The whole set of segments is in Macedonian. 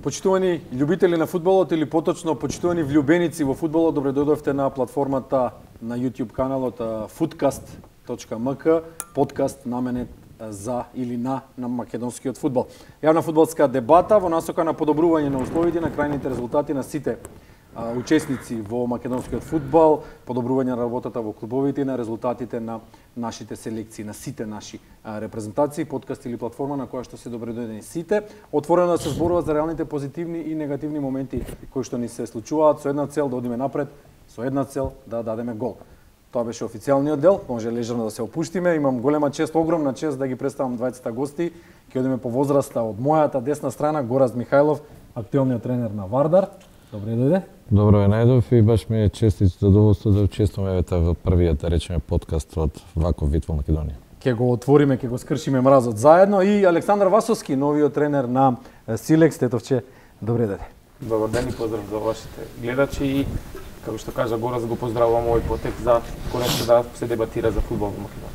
Почитувани љубители на фудбалот или поточно почитувани влюбеници во фудбалот, добре дојдовте на платформата на YouTube каналот footcast.mk, подкаст наменет за или на македонскиот фудбал. Јавна фудбалска дебата во насока на подобрување на условите на крајните резултати на сите учесници во македонскиот фудбал, подобрување на работата во клубовите и на резултатите на нашите селекции, на сите наши репрезентации, подкаст или платформа на која што се добредојдени сите, отворено да се зборува за реалните позитивни и негативни моменти кои што ни се случуваат со една цел да одиме напред, со една цел да дадеме гол. Тоа беше официјалниот дел, може лежерно да се опуштиме. Имам голема чест, огромна чест да ги представам двајцата гости. Ќе одиме по возраста од мојата десна страна, Горазд Михајлов, актуелниот тренер на Вардар. Добре дојде. Добро е најдов и баш ми е чест и задоволство да учествувам во првиот, да речеме, подкаст од ваков вид во Македонија. Ќе го отвориме, ќе го скршиме мразот заедно и Александар Васовски, новиот тренер на Силекс. Тетовче, добре дојде. Добар ден и поздрав за вашите гледачи и како што кажа Гораз, го поздравувам овој потек за конечно да се дебатира за фудбал во Македонија.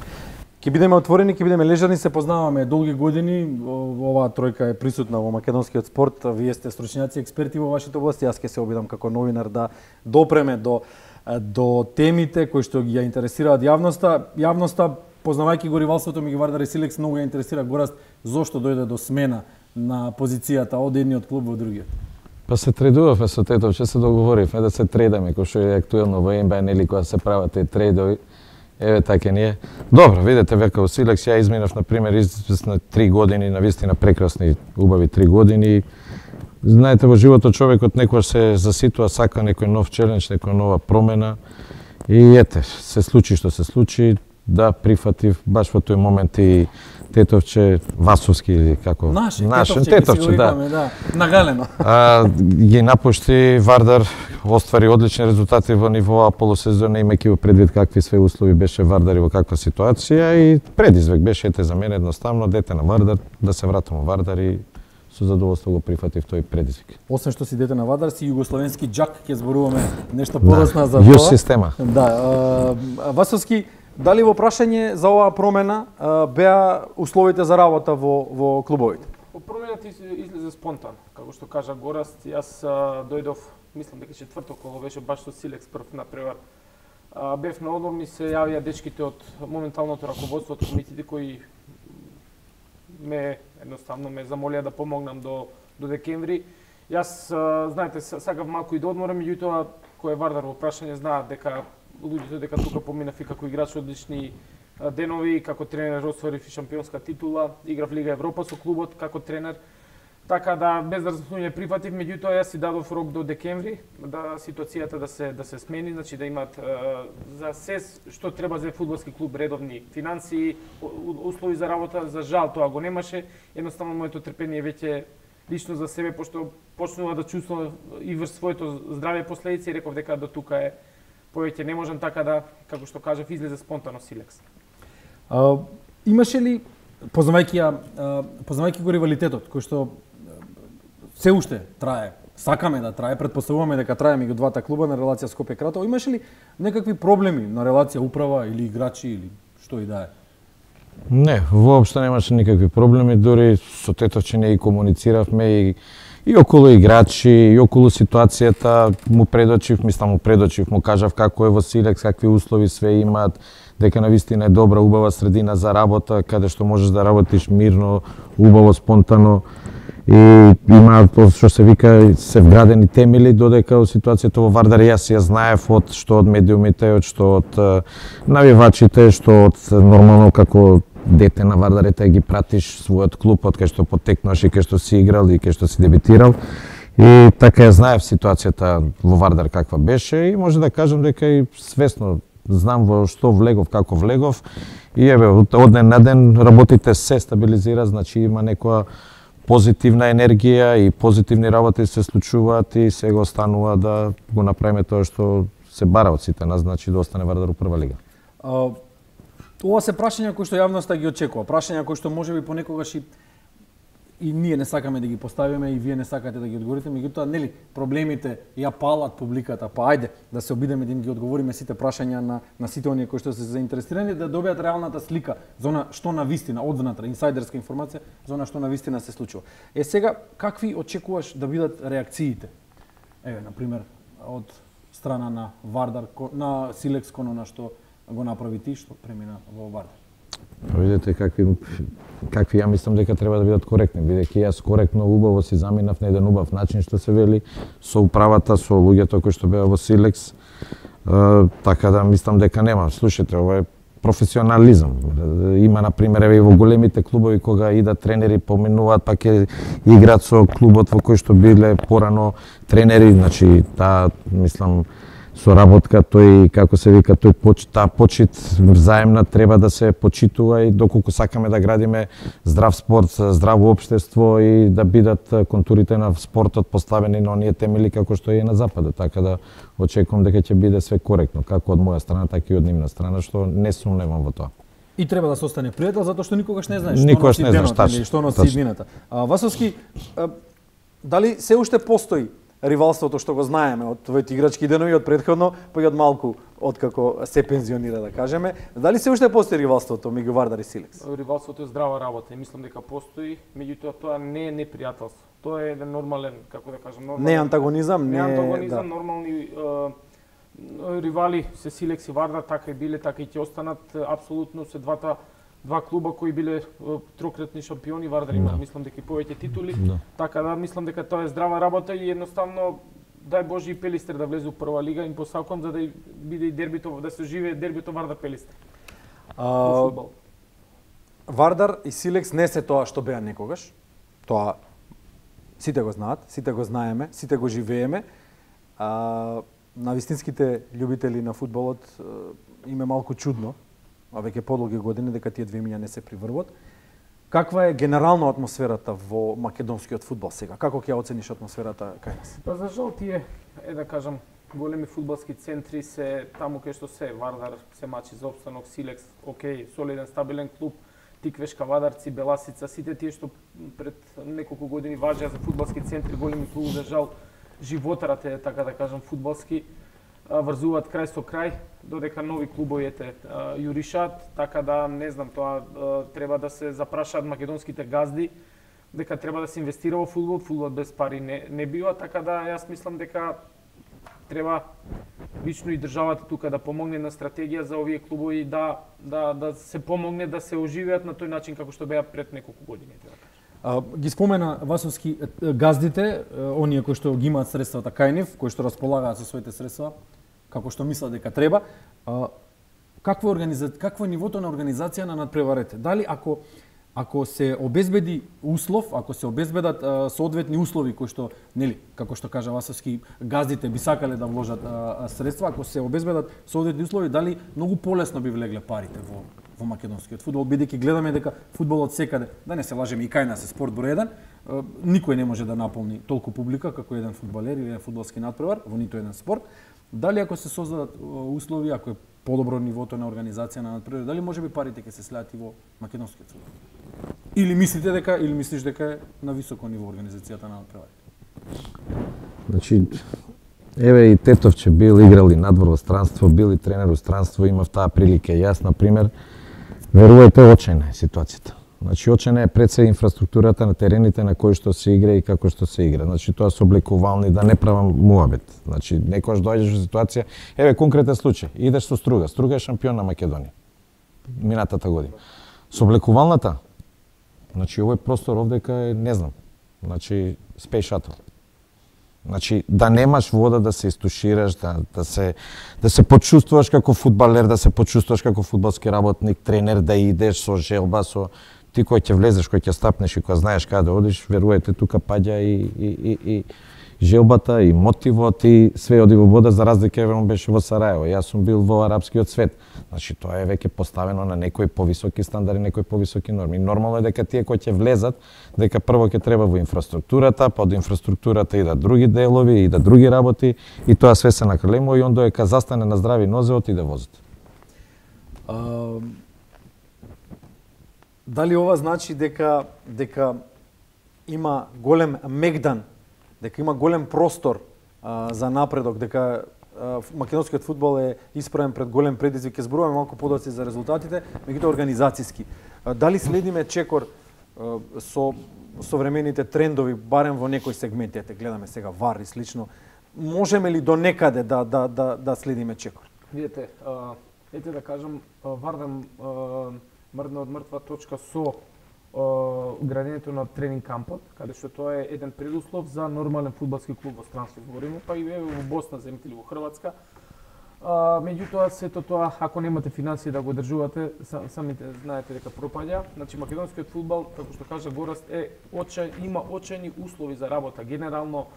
Ќе бидеме отворени, ќе бидеме лежерни, се познаваме долги години. Оваа тројка е присутна во македонскиот спорт. Вие сте стручњаци, експерти во вашите области. Јас ќе се обидам како новинар да допреме до темите кои што ги ја интересираат јавноста. Јавноста, познавајќи го ривалството меѓу Вардар и Силекс, многу ја интересира Горазд зошто дојде до смена на позицијата од едниот клуб во другиот. Па се тредувавме со Тетовче, се договоривме да се тредаме, кој што е актуелно во НБА, нели, кога се прават тие тредови. Еве така ние. Добро, видете века во Силекс ја изминав на пример известно 3 години, навистина прекрасни, убави 3 години. Знаете, во животот човекот некогаш се заситува, сака некој нов челендж, некоја нова промена. И ете, се случи што се случи, да прифатив баш во тој момент и Тетовче Васовски или како Наше Тетовче, да, нагалено. Ги напушти Вардар, оствари одлични резултати во ниво полусезона, имајќи во предвид какви све услови беше Вардар и во каква ситуација, и предизвик беше за мене едноставно дете на Вардар, да се вратам во Вардар и со задоволство го прифатив тој предизвик. Освен што си дете на Вардар, си југословенски џак, ќе зборуваме нешто подоцна за тоа. Јус система. Да, Васовски, дали во прашање за оваа промена беа условите за работа во клубовите? Промената излезе спонтано, како што кажа Гораст. Јас дојдов, мислам дека четврток, кога беше баш со Силекс прв напревар. Бев на одмор, ми се јавија дечките од моменталното раководство од комитите кои едноставно ме замолија да помогнам до декември. Јас, знаете, сакав малку и да одморам, меѓутоа кој е Вардар во прашање знаат дека луѓето дека тука поминав и како играч одлични денови, како тренер освоив и шампионска титула, играв Лига Европа со клубот како тренер. Така да без размислување прифатив, меѓутоа јас си дадов рок до декември да ситуацијата да се смени, значи да имаат за се што треба за фудбалски клуб, редовни финансии, услови за работа. За жал тоа го немаше. Едноставно моето трпение веќе лично за себе, пошто почнува да чувствувам и врз своето здравје последици, реков дека до тука е повеќе не можам, така да, како што кажав, излезе спонтано Силекс. Имаше ли, познавајќи го ривалитетот, кој што се уште трае, сакаме да трае, претпоставуваме дека трае меѓу двата клуба на релација Скопје-Кратово, имаше ли некакви проблеми на релација управа или играчи или што и да е? Не, воопшто немаше никакви проблеми, дури со Тетовче не и комунициравме и околу играчи, и околу ситуацијата му предочив, му кажав како е во Силекс, какви услови све имаат, дека навистина е добра, убава средина за работа, каде што можеш да работиш мирно, убаво, спонтано. И има, што се вика, се вградени темели, додека ситуацијата во Вардар јас ја знаев од медиумите, од навивачите, што од нормално како дете на Вардар ги пратиш својот клуб, од кај што потекнуваш и кај што си играл и кај што си дебитирал. И така ја знаев ситуацијата во Вардар каква беше и може да кажам дека и свесно знам во што влегов, како влегов. И еве, од ден на ден работите се стабилизира, значи има некоја позитивна енергија и позитивни работи се случуваат и сега останува да го направиме тоа што се бара од сите нас, значи да остане Вардар у прва лига. Ова се прашања кои што јавноста ги очекува, прашања кои што можеби понекогаш и и ние не сакаме да ги поставиме и вие не сакате да ги одговорите, меѓутоа нели проблемите ја палат публиката, па ајде да се обидеме да им ги одговориме сите прашања на сите оние кои што се заинтересирани да добијат реалната слика за она што на вистина од внатре, инсайдерска информација за она што на вистина се случува. Сега какви очекуваш да бидат реакциите? Еве на пример од страна на Вардар, на Силекс кон она што го направи ти, што премина во Вардар. Видете какви ја мислам дека треба да бидат коректни, бидејќи јас коректно убаво си заминав на еден убав начин што се вели со управата, со луѓето кои што беа во Силекс, така да мислам дека нема. Слушате, ова е професионализам. Има на пример еве во големите клубови кога идат тренери поминуваат па ќе играат со клубот во кој што биле порано тренери, значи таа мислам соработка, тој како се вика, таа почит взаемна треба да се почитува и доколку сакаме да градиме здрав спорт, здраво општество и да бидат контурите на спортот поставени на оние темели како што е на западот, така да очекувам дека ќе биде све коректно, како од моја страна, така и од нивна страна, што не сумневам во тоа. И треба да се остане пријател затоа што никогаш не знаеш што носи иднината. Васовски, дали се уште постои ривалството што го знаеме од твоите играчки денови, од претходно, па и од малку откако се пензионира, да кажеме. Дали се уште постои ривалството меѓу Вардар и Силекс? Ривалството е здрава работа и мислам дека постои, меѓутоа тоа не е непријателство. Тоа е еден нормален, како да кажам, нормален. Не антагонизам, нормални ривали се Силекс и Вардар, така и биле, така и ќе останат. Апсолутно се два клуба кои биле трократни шампиони, Вардар има, мислам дека и повеќе титули, така да мислам дека тоа е здрава работа и едноставно дај Боже и Пелистер да влезе во прва лига, им посакувам за да биде и дербито, да се оживее дербито Вардар Пелистер. Вардар и Силекс не се тоа што беа некогаш. Тоа сите го знаат, сите го знаеме, сите го живееме. На вистинските љубители на фудбалот им е малку чудно, а веќе подолги години дека тие две имиња не се приврват. Каква е генерално атмосферата во македонскиот фудбал сега? Како ќе ја оцениш атмосферата кај нас? Па за жал тие, да кажам, големи фудбалски центри се таму кај што се Вардар се мачи за опстанок, Силекс, окей, солиден, стабилен клуб, Тиквешка, Вадарци, Беласица, сите тие што пред неколку години важеа за фудбалски центри, големи клубови, за жал животарат е, така да кажам, фудбалски, врзуваат крај со крај, додека нови клубови јуришат, така да не знам, тоа треба да се запрашаат македонските газди, дека треба да се инвестира во фудбал, фудбал без пари не бива, така да јас мислам дека треба лично и државата тука да помогне на стратегија за овие клубови да се помогне да се оживеат на тој начин како што беа пред неколку години. Ги спомена Васовски газдите, оние кои што ги имаат средствата кај нив, кои што располагаат со своите средства, како што мислат дека треба. Какво е нивото на организација на надпреварите? Дали ако се обезбеди услов, ако се обезбедат соодветни услови кои што, нели, како што кажа Васовски, газдите би сакале да вложат средства, ако се обезбедат соодветни услови, дали многу полесно би влегле парите во македонскиот фудбал, бидејќи гледаме дека фудбалот секаде, да не се лажеме, и кај нас е спорт број 1, никој не може да наполни толку публика како еден фудбалер или еден фудбалски надпревар во ниту еден спорт. Дали ако се создадат услови, ако е подобро нивото на организација на надпревар, дали можеби парите ќе се слеат и во македонскиот фудбал? Или мислиш дека е на високо ниво организацијата на надпревар? Значи, еве и Тетовче бил играл и надвор во странство, бил и тренер во странство, имав таа прилика. Јас, на пример, верувајте, очајна е ситуацијата. Значи, очајна е пред се инфраструктурата на терените на кои што се игра и како што се игра. Значи, тоа се облекувални, да не правам муабет. Значи, некојаш доаѓаш во ситуација, еве конкретен случај, идеш со Струга. Струга е шампион на Македонија минатата година. Со облекувалната, значи, овој простор овдека е, не знам, значи, Space Shuttle. Значи, да немаш вода да се истушираш, да се почувствуваш како фудбалер, да се почувствуваш како фудбалски работник, тренер, да идеш со желба, со ти кој ќе влезеш, кој ќе стапнеш и кој знаеш каде да одиш, верувајте, тука паѓа и желбата, и мотивот, и све оди во вода, за разлика еве он беше во Сараево. Јас сум бил во арапскиот свет. Значи, тоа е веќе поставено на некои повисоки стандарди, некои повисоки норми. Нормално е дека тие кои ќе влезат, дека прво ќе треба во инфраструктурата, па од инфраструктурата и да други делови, и да други работи, и тоа све се накрелемо и он доека застане на здрави нозе, отиде возот. Дали ова значи дека има голем мегдан, дека има голем простор за напредок, дека македонскиот фудбал е исправен пред голем предизвик. Ќе зборуваме малку подоци за резултатите, меѓутоа организацијски. Дали следиме чекор со современите трендови, барем во некои сегменти, гледаме сега ВАР и слично, можеме ли до некаде да следиме чекор? Видете, ете да кажам, вардам мрдна од мртва точка со градењето на тренинг кампот, каде што тоа е еден предуслов за нормален фудбалски клуб во странство збориме, па и во Босна, земете или во Хрватска. Меѓутоа, сето тоа, ако немате финансии да го одржувате, самите знаете дека пропаѓа. Значи, македонскиот фудбал, како што кажа Гораст, има очајни услови за работа. Генерално,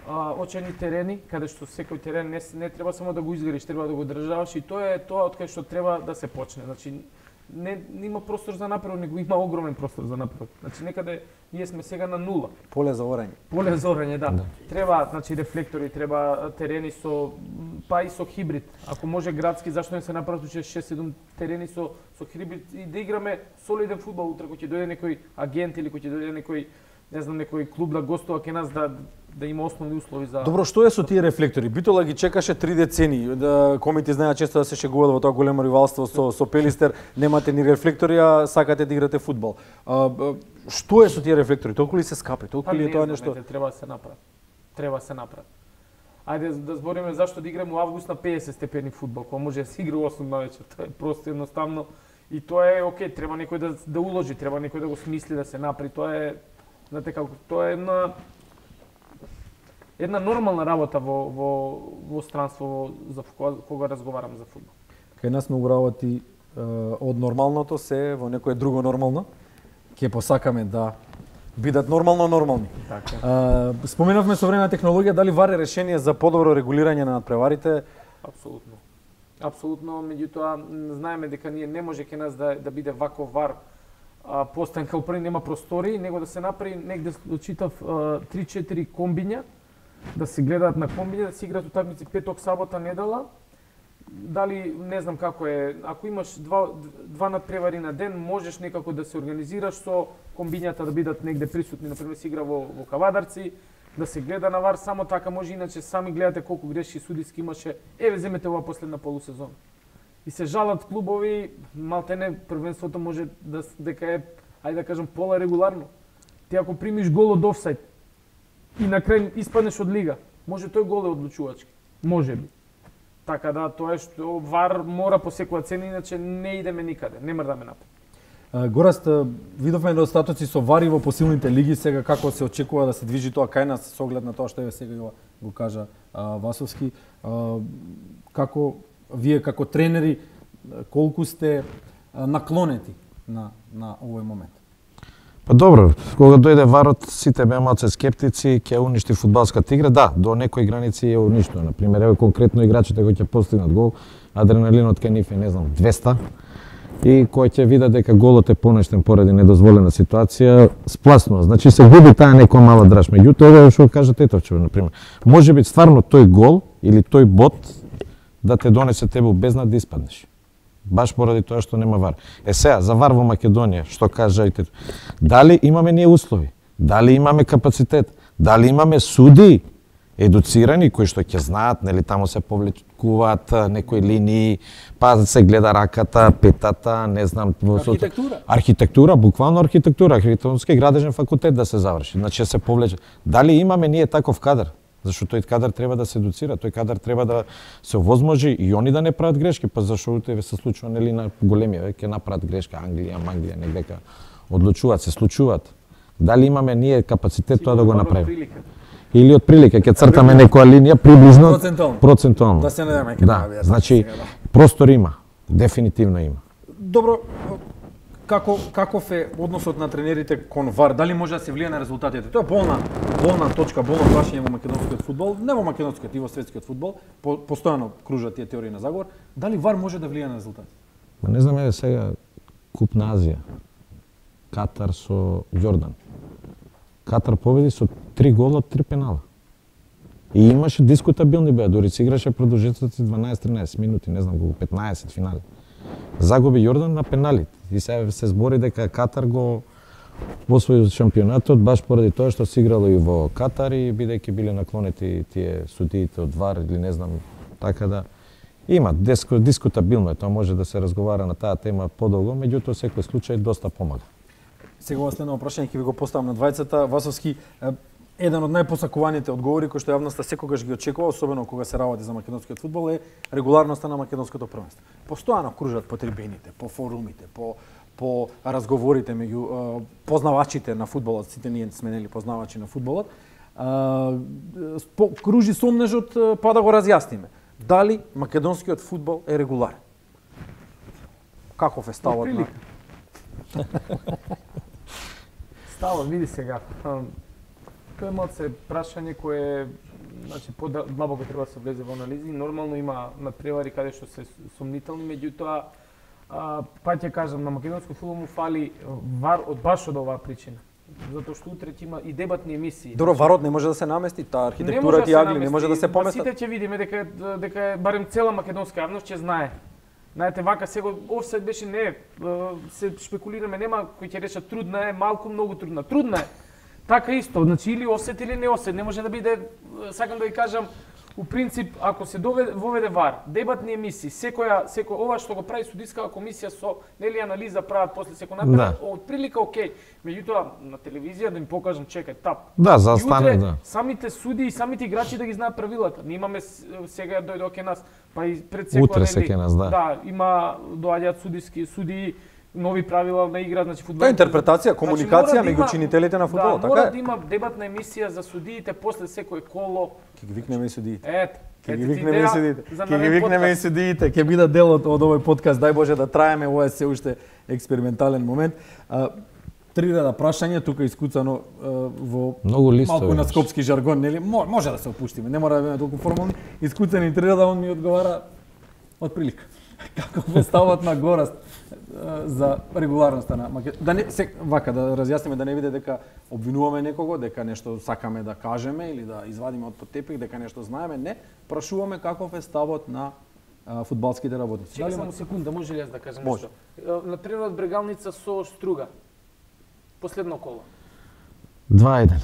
очајни терени, каде што секој терен не треба само да го изградиш, треба да го одржаваш, и тоа е тоа од кај што треба да се почне. Значи, не има простор за напредок, него има огромен простор за напредок. Значи, некаде ние сме сега на нула. Поле за орање. Поле за орање, да. Треба, значи, рефлектори, треба терени со, па и со хибрид. Ако може градски, зашто не се направат 6-7 терени со хибрид и да играме солиден фудбал утре, кој ќе дојде некој агент или кој ќе дојде некој, не знам, некој клуб да гостува кај нас, да има основни услови за... Добро, што е со тие рефлектори? Битола ги чекаше 3 децени. Комити знаат често да се шегуваат во тоа големо ривалство со Пелистер. Немате ни рефлектори, а сакате да играте фудбал. Што е со тие рефлектори? Толку ли се скапи? Толку ли е тоа нешто? Треба да се направи. Треба да се направи. Ајде да збориме зашто да играме во август на 50 степени фудбал, кога може да се игра 8 навечер. Тоа е просто едноставно и тоа е окей, треба некој да уложи, треба некој да го смисли, да се направи. Тоа е, знаете како, тоа е една нормална работа во странство за кога разговарам за фудбал. Кај нас многу работи од нормалното се во некое друго нормално. Ќе посакаме да бидат нормални. Така. Споменавме со време на технологија, дали ВАР е решение за подобро регулирање на надпреварите? Апсолутно. Апсолутно, меѓутоа знаеме дека ние не може кај нас да биде ваков ВАР постојан као први, нема простори, него да се направи негде читав 3-4 комбиња, да се гледаат на комбиња, да се играат утакмици петок, сабота, недела. Дали не знам како е, ако имаш два надпревари на ден, можеш некако да се организираш со комбињата да бидат негде присутни, например се игра во Кавадарци, да се гледа на ВАР, само така може, иначе сами гледате колку грешки судиски имаше. Еве земете ова последна полусезона. И се жалат клубови, малтене првенството може дека е, ајде да кажам, пола регуларно. Ти ако примиш гол од офсајд и на крај испаднеш од лига, може тој гол е одлучувачки. Може би. Така да, тоа е што ВАР мора по секоја цена, иначе не идеме никаде, не мрдаме напред. Гораст, видовме недостатоци со ВАР и во посилните лиги, сега како се очекува да се движи тоа кај нас со оглед на тоа што еве сега го кажа Васовски. Како вие како тренери, колку сте наклонети на овој момент? Па добро, кога дојде ВАРот, сите беа малце скептици, ќе уништи фудбалската игра. Да, до некои граници е уништено. Например, еве конкретно играчите кои ќе постигнат гол, адреналинот кај нив е, не знам, 200. И кој ќе видат дека голот е понештен поради недозволена ситуација, спласно. Значи се губи таа некоја мала драж. Меѓутоа, еве што кажа Тетовчев, например. Може би стварно тој гол или тој бот да те донесе тебе безнад да испаднеш. Баш поради тоа што нема ВАР. Сега, за ВАР во Македонија, што кажајте? Дали имаме ние услови? Дали имаме капацитет? Дали имаме суди едуцирани кои што ќе знаат, нели таму се повлекуваат некои линии, па се гледа раката, петата, не знам, архитектура. Архитектура, буквално архитектура, архитектонски градежен факултет да се заврши. Значи се повлече. Дали имаме ние таков кадар? Зашто тој кадар треба да се едуцира, тој кадар треба да се овозможи и они да не прават грешки, па зашто тебе се случува нели на големија, ќе направат грешка Англија, негдека одлучуваат, се случуваат. Дали имаме ние капацитет тоа да го направиме? Или од прилика ќе цртаме некоја линија приближно процентуално. Да се надеваме ќе да, значи простор има, дефинитивно има. Добро, каков е односот на тренерите кон ВАР? Дали може да се влие на резултатите? Тоа е болна точка, болно прашање во македонскиот фудбал, не во македонскиот и во светскиот фудбал, постојано кружат тие теории на заговор. Дали ВАР може да влие на резултатите? Ма не знам, еве сега Куп на Азија. Катар со Јордан. Катар победи со 3 гола од 3 пенала. И имаше дискутабилни беа, дури се играше продолжителности 12-13 минути, не знам колку, 15 финали. Загуби Јордан на пенали. И сега се збори дека Катар го во освои шампионатот баш поради тоа што се играло и во Катар и бидејќи биле наклонети тие судиите од ВАР или не знам, така да има дискутабилно е, тоа може да се разговара на таа тема подолго, меѓутоа секој случај доста помага. Сега следно прашање ќе ви го поставам на двајцата. Васовски, еден од најпосакуваните одговори кои што јавноста секогаш ги очекува, особено кога се работи за македонскиот фудбал, е регуларноста на македонското првенство. Постојано кружат по трибините, по форумите, по разговорите меѓу познавачите на фудбалот, сите ние сме нели познавачи на фудбалот. Кружи сомнежот, па да го разјасниме. Дали македонскиот фудбал е регуларен? Каков е ставот на... Ставот, види сега. Тоа е малце прашање кое значи подлабоко треба да се влезе во анализи. Нормално има надпревари каде што се сомнителни, меѓутоа па ќе кажам, на македонскиот фудбал му фали ВАР баш од оваа причина. Затоа што утре ќе има и дебатни емисии. Добро, варот не може да се намести, таа архитектура и агли не може да се поместат. Сите ќе видиме дека барем цела македонска јавност ќе знае. Знаете, вака сега офсайд беше не, се шпекулираме, нема кој ќе рече трудна е, малку многу трудна. Трудна е. Така исто, значи или осет или не осет, не може да биде, сакам да ви кажам, у принцип, ако се воведе ВАР, дебатни емисии, секој ова што го прави судискава комисија со нели анализа прават после секој напред, од прилика окей. Меѓутоа на телевизија да ми покажам, чекај, тап. Да, застане, да. Самите суди и самите играчи да ги знаат правилата. Ние имаме сега дојде ке нас, па и пред секој утре се ке нас, да. Да, има доаѓаат суди нови правила на игра, значи фудбал. Тоа интерпретација, комуникација меѓу чинителите на фудбалот, така е. Мора да има дебатна емисија за судиите после секое коло. Ќе ги викнеме и судиите. Ќе ги викнеме и судиите. Ќе бидат дел од овој подкаст. Дај Боже да траеме, ова е се уште експериментален момент. Три реда прашање тука искуцано во малку на скопски жаргон, нели? Може да се опуштиме, не мора да бидеме толку формални. Искуцани три реда, он ми одговара од прилика. Како е ставот на Гораст за регуларноста на вака да разјасниме, да не биде дека обвинуваме некого, дека нешто сакаме да кажеме или да извадиме од под тепих, дека нешто знаеме, не, прашуваме каков е ставот на фудбалските работници. Чекај само секунда, може ли јас да кажам нешто? На пример Брегалница со Струга. Последно коло. 2-1.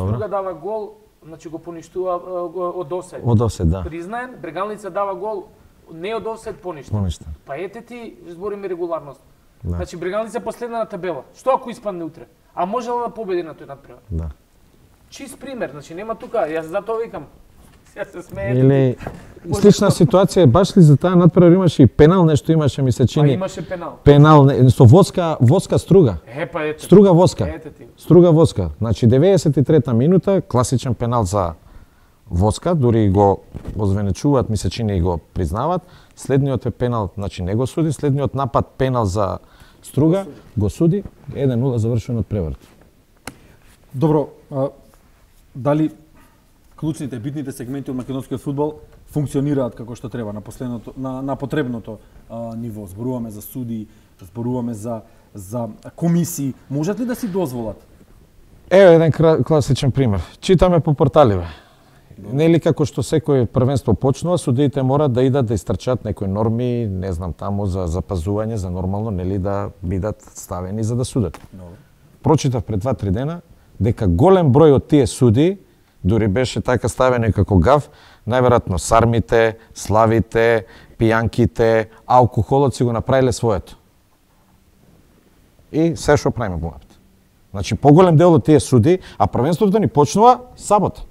Струга дава гол, значи го поништува од офсайд. Од офсайд, да. Признаен, Брегалница дава гол не од офсайд поништен. Па ете ти збориме регуларност. Да. Значи Брегалница последна на табела. Што ако испадне утре? А можела да победи на тој надпревар? Да. Чист пример, значи нема тука, јас затоа викам. Сега се смеете. Или слична ситуација, баш ли за таа надпревар имаше и пенал, нешто имаше, ми се чини. Па имаше пенал. Пенал со Воска Струга. Па ете. Струга Воска. Струга Воска. Значи 93-та минута, класичен пенал за Воска, дури го озвенечуваат, ми се чини и го признаваат. Следниот е пенал, значи не го суди, следниот напад пенал за Струга, го суди, 1-0 завршено од преврат. Добро, дали клучните, битните сегменти од македонскиот фудбал функционираат како што треба на потребното ниво? Зборуваме за суди, зборуваме за комисии, можат ли да си дозволат? Еве еден класичен пример. Читаме по порталиве. Нели како што секој првенство почнува, судиите мора да идат да истрчат некои норми, не знам таму за запазување, за нормално нели да бидат ставени за да судат. Прочитав пред 2-3 дена дека голем број од тие суди, дури беше така ставени како гав, најверојатно сармите, славите, пијанките, алкохолот си го направиле своето. И се што правиме главата. Значи поголем дел од тие суди, а првенството ни почнува сабота.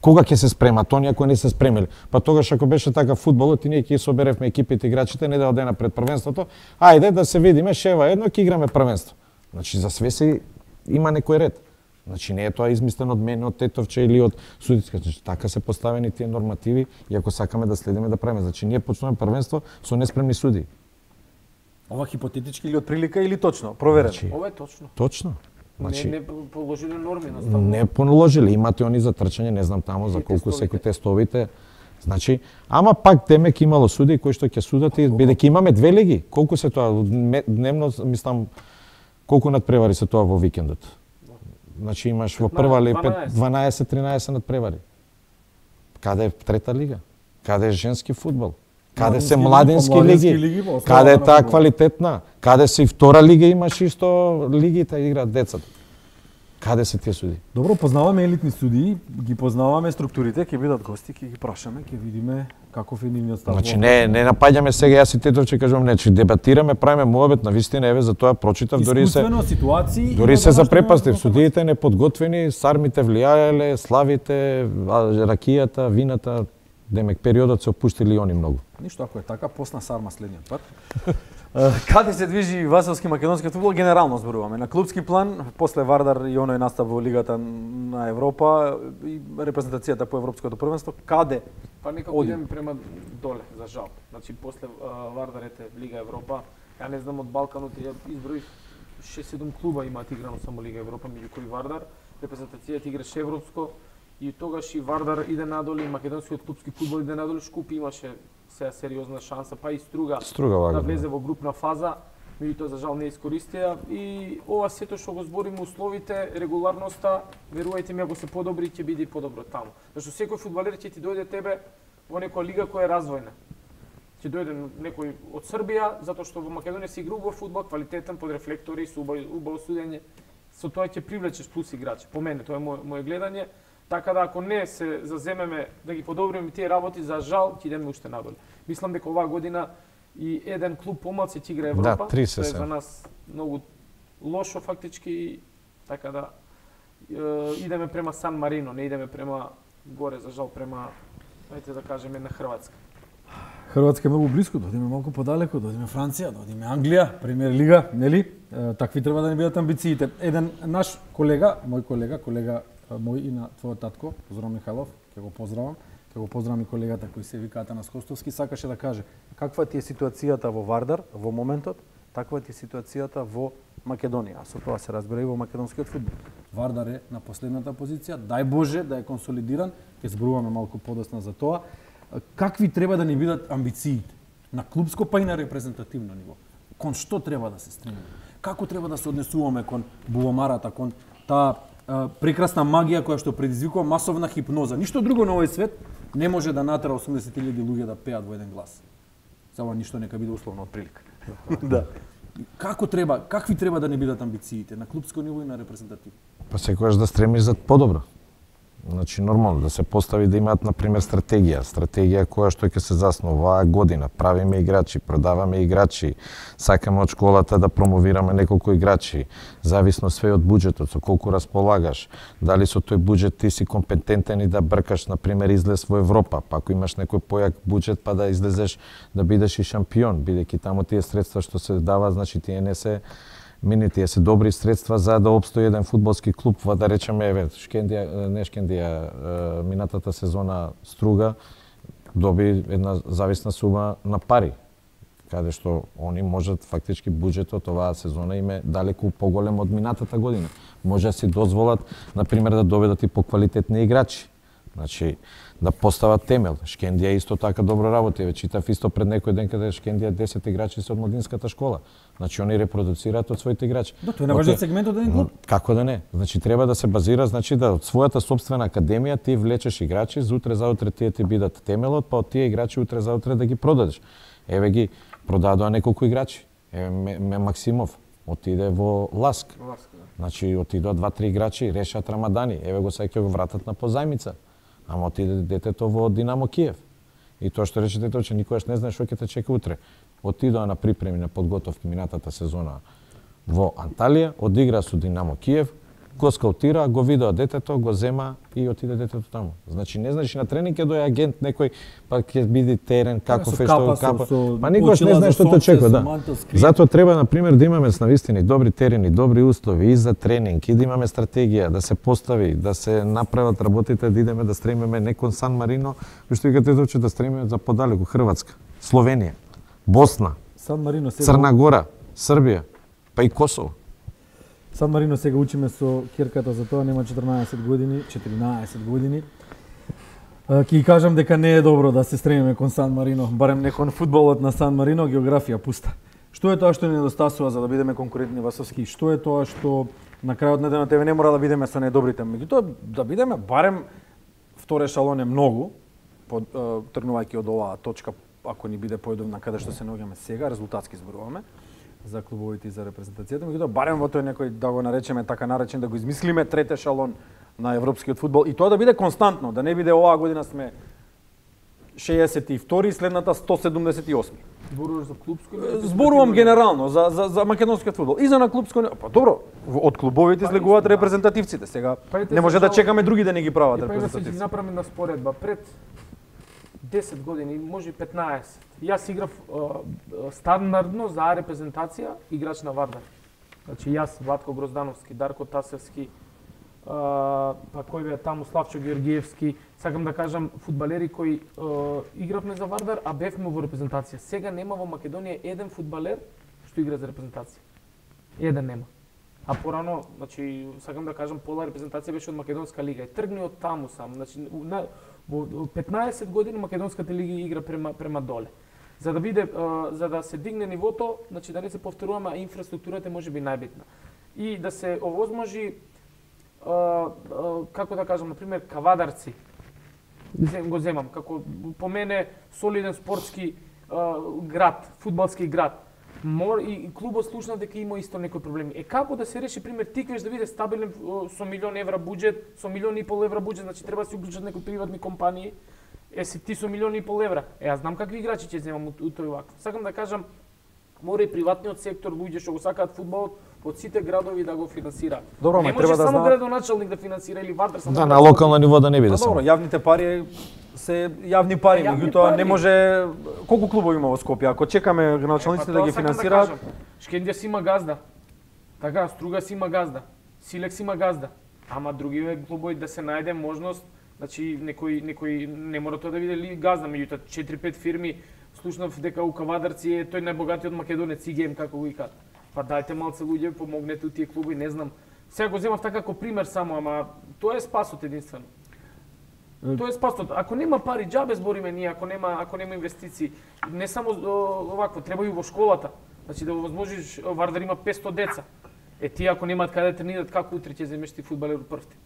Кога ќе се спремат оние кои не се спремиле? Па тогаш ако беше така фудбалот и ние ќе соберевме екипите играчите недела дена пред првенството, ајде да се видиме шева едно ќе играме првенство. Значи за све се има некој ред. Значи не е тоа измислено од мене, од Тетовче или од судиска, значи така се поставени тие нормативи и ако сакаме да следиме да правиме, значи ние почнуваме првенство со неспремни суди. Ова хипотетички или од прилика или точно, проверено? Значи, ова е точно. Точно. Значи, не положиле норми на ставно. Не положиле, имате они за трчање, не знам таму за колку секој тестовите. Значи, ама пак демек имало суди кои што ќе судат и бидејќи имаме две лиги. Колку се тоа дневно, мислам, колку надпревари се тоа во викендот? Значи имаш во прва лига 12-13 надпревари. Каде е трета лига? Каде е женски фудбал? Каде се младенски лиги? Каде е таа квалитетна? Каде се и втора лига имаш исто лигите играат децата. Каде се тие судии? Добро, познаваме елитни судии, ги познаваме структурите, ќе бидат гости, ќе ги прашаме, ќе видиме каков е нивниот став. Значи не напаѓаме сега, јас и Тетовче кажувам, значи дебатираме, правиме муабет, навистина еве за тоа прочитав, дури се ситуации, дури се запрепастив, судиите неподготвени, сармите влијаеле, славите, ракијата, вината, демек периодот се опуштили и они многу. Ништо, ако е така, посна сарма следниот пат. Каде се движи василски македонски фудбал, генерално зборуваме. На клубски план, после Вардар и оној настав во Лигата на Европа и репрезентацијата по Европското првенство, каде? Па некако идеме према доле, за жал. Значи, после Вардарете Лига Европа, ја не знам од Балканот, ја изброив 6-7 клуба имаат играно само Лига Европа, меѓу кои Вардар, репрезентацијата играше Европско, и тогаш и Вардар иде надоле, и македонскиот клубски фудбал иде надоле, Шкупи имаше сега сериозна шанса, па и Струга да влезе во групна фаза, меѓутоа за жал не искористија. И ова сето што го збориме, условите, регуларноста, верувајте ми, ако се подобри, ќе биде и подобро таму. Зашто секој фудбалер ќе ти дојде тебе во некоја лига која е развојна. Ќе дојде некој од Србија, затоа што во Македонија се игра убав фудбал, квалитетен, под рефлектори, со убаво судење. Со тоа ќе привлечеш плюс играчи. По мене, тоа е моje гледање. Така да ако не се заземеме да ги подобриме тие работи, за жал ќе идеме уште надоле. Мислам дека оваа година и еден клуб помалку ќе игра Европа. Да, 30 тоа е за нас многу лошо фактички, така да идеме према Сан Марино, не идеме према горе, за жал према, ајде да кажеме, на Хрватска. Хрватска е многу близко, да одиме малку подалеку, да одиме Франција, да одиме Англија, Премиер лига, нели? Такви треба да не бидат амбициите. Еден наш колега, мој и на твојот татко, Зоран Михајлов, ќе го поздравам. Ќе го поздравам и колегата кој се вика Атанас Костовски, сакаше да каже каква ти е ситуацијата во Вардар во моментот, таква ти е ситуацијата во Македонија. А со тоа се разбира и во македонскиот фудбал. Вардар е на последната позиција, дај Боже да е консолидиран, ќе зборуваме малку подоцна за тоа. Какви треба да ни бидат амбициите на клубско па и на репрезентативно ниво? Кон што треба да се стремиме? Како треба да се однесуваме кон буломарата, кон таа прекрасна магија која што предизвикува масовна хипноза. Ништо друго на овој свет не може да натера 80.000 луѓе да пеат во еден глас. За ова ништо нека биде условно од прилика. Да. Какви треба да не бидат амбициите на клубско ниво и на репрезентативно? Па секогаш да стремиш за подобро. Значи нормално да се постави да имаат на пример стратегија која што ќе се заснова оваа година. Правиме играчи, продаваме играчи, сакаме од школата да промовираме неколку играчи, зависно све од буџетот, со колку располагаш, дали со тој буџет ти си компетентен и да бркаш на пример излез во Европа, па ако имаш некој појак буџет па да излезеш да бидеш и шампион, бидејќи таму тие средства што се дава, значи тие не се тие се добри средства за да опстои еден фудбалски клуб, да речеме, еве, Шкендија, минатата сезона Струга доби една зависна сума на пари, каде што они можат фактички буџетот оваа сезона им е далеку поголем од минатата година. Може да си дозволат, на пример, да доведат и поквалитетни играчи. Значи, да постават темел. Шкендија исто така добро работи. Ве читав исто пред некој ден каде Шкендија 10 играчи се од младинската школа. Значи они репродуцираат од своите играчи. Да, тоа е наважен сегмент од еден клуб. Како да не? Значи треба да се базира, значи да од својата сопствена академија ти влечеш играчи, за утре заутре тие ти бидат темелот, па од тие играчи утре заутре да ги продадеш. Еве ги продадоа неколку играчи. Еве Максимов отиде во Ласк. Значи отидоа 2-3 играчи, Решат Рамадани. Еве го сега ќе го вратат на позајмица. Ама отиде детето во Динамо Киев. И тоа што рече детето, че никогаш не знае што ќе те чека утре. Отидоа на припреми на подготовки минатата сезона во Анталија, одигра со Динамо Киев, го скаутира, го видоа детето, го зема и отиде детето таму. Значи не знаеш на тренинг ќе дојде агент некој, па ќе биде терен каков е што капа. Па никогаш не знаеш што те очекува, да. Затоа треба на пример да имаме навистина добри терени, добри услови и за тренинг, и да имаме стратегија да се постави, да се направат работите, да идеме да стремиме не кон Сан Марино, што викате тоа да стремиме за подалеку Хрватска, Словенија, Босна, Сан Марино, Црна Гора, Србија, па и Косово. Сан Марино сега учиме со ќерката за тоа, нема 14 години. Ќе кажам дека не е добро да се стремиме кон Сан Марино, барем не кон фудбалот на Сан Марино, географија пуста. Што е тоа што ни недостасува за да бидеме конкурентни васовски? Што е тоа што на крајот на денот не мора да бидеме со најдобрите, меѓутоа да бидеме барем втор ешалон е многу, тргнувајќи од оваа точка, ако ни биде поедовна каде што се наоѓаме сега, резултатски зборуваме. за клубовите и за репрезентацијата, меѓутоа барем во тој некој, да го наречеме така наречен, да го измислиме трет ешалон на европскиот фудбал и тоа да биде константно, да не биде оваа година сме 62 следната 178. Зборуваш за клубско? Зборувам генерално за македонскиот фудбал. И за на клубско, па добро, од клубовите излегуваат репрезентативците. Сега не може да чекаме други да не ги прават репрезентативци. Па да се направиме на споредба пред 10 години, може и 15. Јас играв стандардно за репрезентација играч на Вардар. Значи јас, Владко Гроздановски, Дарко Тасевски, па кој бе таму, Славчо Георгиевски, сакам да кажам фудбалери кои игравме за Вардар, а бевме во репрезентација. Сега нема во Македонија еден фудбалер што игра за репрезентација. Еден нема. А порано, значи, сакам да кажам, пола репрезентација беше од Македонска лига и тргни од таму сам. Значи, во 15 години Македонската лига игра према доле. За да биде, за да се дигне нивото, значи да не се повторуваме, а инфраструктурата може би најбитна. И да се овозможи, како да кажам, например, кавадарци, го земам, како по мене солиден спортски град, фудбалски град. И клубот слушнав дека има исто некои проблеми. Како да се реши, пример, Тиквеш да биде стабилен со милион евра буџет, со милион и пол евра буџет, значи треба да се уклучат некои приватни компании. Си ти со милион и пол евра. Јас знам какви играчи ќе земам у тој вакво. Сакам да кажам, мора и приватниот сектор, луѓе што го сакаат фудбалот, од сите градови да го финансираат. Добро, не може само градоначалник да финансира или Вардар само. Да, на локално ниво да не биде само. Добро, јавните пари се јавни пари, меѓутоа не може колку клубови има во Скопје, ако чекаме градоначалниците да ги финансираат. Шкендија си има газда. Така, Струга си има газда. Силекс има газда. Ама други клубови да се најде можност, значи некој не мора тоа да биде газда, меѓутоа 4-5 фирми, слушнав дека у Кавадарци е тој најбогатиот македонец ИГМ, како го икат. Па дајте малце луѓе, помогнете у тие клуби, не знам. Сега го земав така како пример само, ама тоа е спасот единствено. Тоа е спасот. Ако нема пари, џабе збориме ние, ако нема инвестиции. Не само овакво, треба и во школата. Значи да овозможиш, Вардар има 500 деца. Тие ако немаат каде да тренираат, како утре ќе земеш ти фудбалер од првти?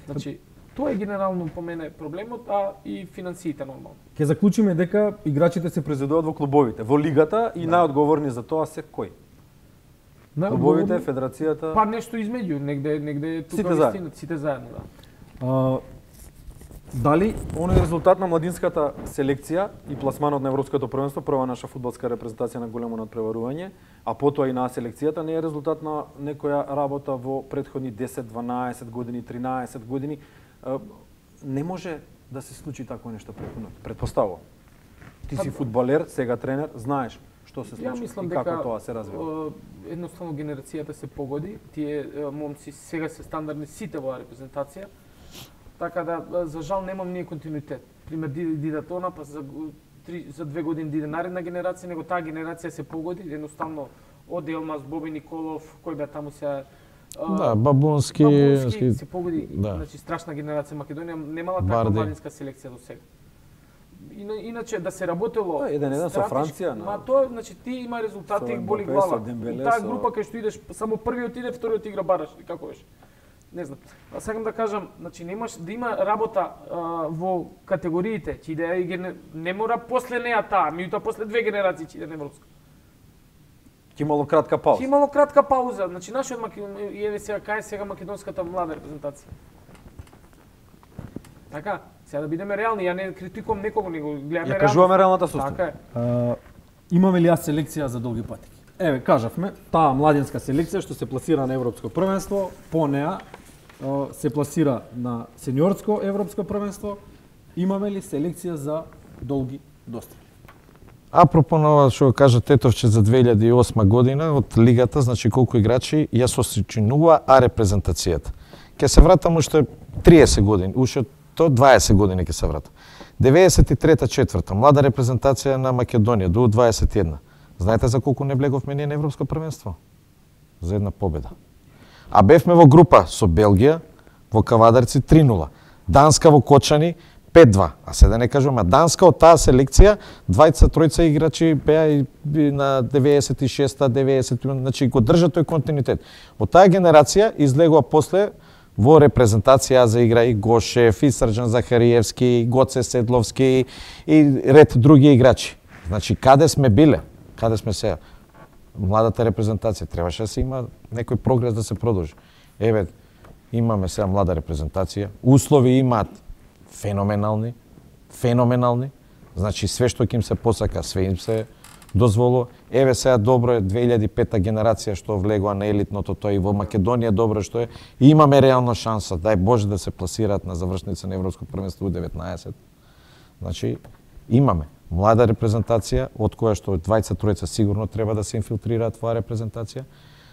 Значи, тоа е генерално по мене проблемот, а и финансиите нормално. Ќе заклучиме дека играчите се произведуваат во клубовите, во лигата и најодговорни за тоа се кој? Клубовите, федерацијата? Па нешто измеѓу, негде тука вистина, сите заедно, да. Дали оној резултат на младинската селекција и пласманот на Европското првенство, прва наша фудбалска репрезентација на големо надпреварување, а потоа и на селекцијата, не е резултат на некоја работа во претходни 10, 12 години, 13 години? Не може да се случи такво нешто предпоставувам. Ти си фудбалер, сега тренер, знаеш што се случи и како тоа се развива. Едноставно генерацијата се погоди, тие момци сега се стандардни сите во репрезентација, така да за жал немам ние континуитет. Пример диде тона, па за 2 години диде наредна генерација, него таа генерација се погоди, едноставно од Елмаз, Боби Николов, кој бе таму се да, Бабунски се погоди, да. Значи страшна генерација. Македонија немала таква младинска селекција до сега. Иначе да се работело еден со Франција, ма тоа значи ти има резултати, боли глава. Таа група кај што идеш само првиот иде, вториот игра бараш, како беше. Не знам. Сакам да кажам, значи немаш да има работа во категориите, ќе иде не мора после неа таа, меѓутоа после 2 генерации ќе иде на европска. Ќе имало кратка пауза. Ќе имало кратка пауза. Значи нашиот еве сега кај сега македонската млада репрезентација. Така, сега да бидеме реални, ја не критикувам некого, него гледаме реално. Ја кажуваме реалната состава. Така е. Имаме ли селекција за долги патеки? Еве, кажавме, таа младинска селекција што се пласира на европско првенство, по неа се пласира на сениорско европско првенство. Имаме ли селекција за долги достапи? Апропо на ова што кажа Тетовче за 2008 година од лигата, значи колку играчи ја сосчинува репрезентацијата. Ќе се вратам уште 30 години, уште 20 години ќе се вратам. 93-4 млада репрезентација на Македонија до 21. Знаете за колку не влеговме ние на европско првенство? За една победа. А бевме во група со Белгија, во Кавадарци 3-0, Данска во Кочани 5-2. А се да не кажуваме, Данска од таа селекција, тројца играчи беа и на 96-та, 90-та, значи го држа тој континуитет. Од таа генерација излегува после во репрезентација за игра и Гошев, и Срđan Захариевски, и Гоце Седловски и ред други играчи. Значи, каде сме биле? Каде сме сега? младата репрезентација. Требаше да се има некој прогрес да се продолжи. Еве, имаме сега млада репрезентација, услови имаат феноменални, значи све што ќе им се посака, све им се дозволува. Еве сега добро е 2005 генерација што влегува на елитното, тоа и во Македонија добро што е. И имаме реална шанса, дај Боже да се пласираат на завршница на Европско првенство U19. Значи, имаме млада репрезентација, од која што двајца-тројца сигурно треба да се инфилтрираат во репрезентација.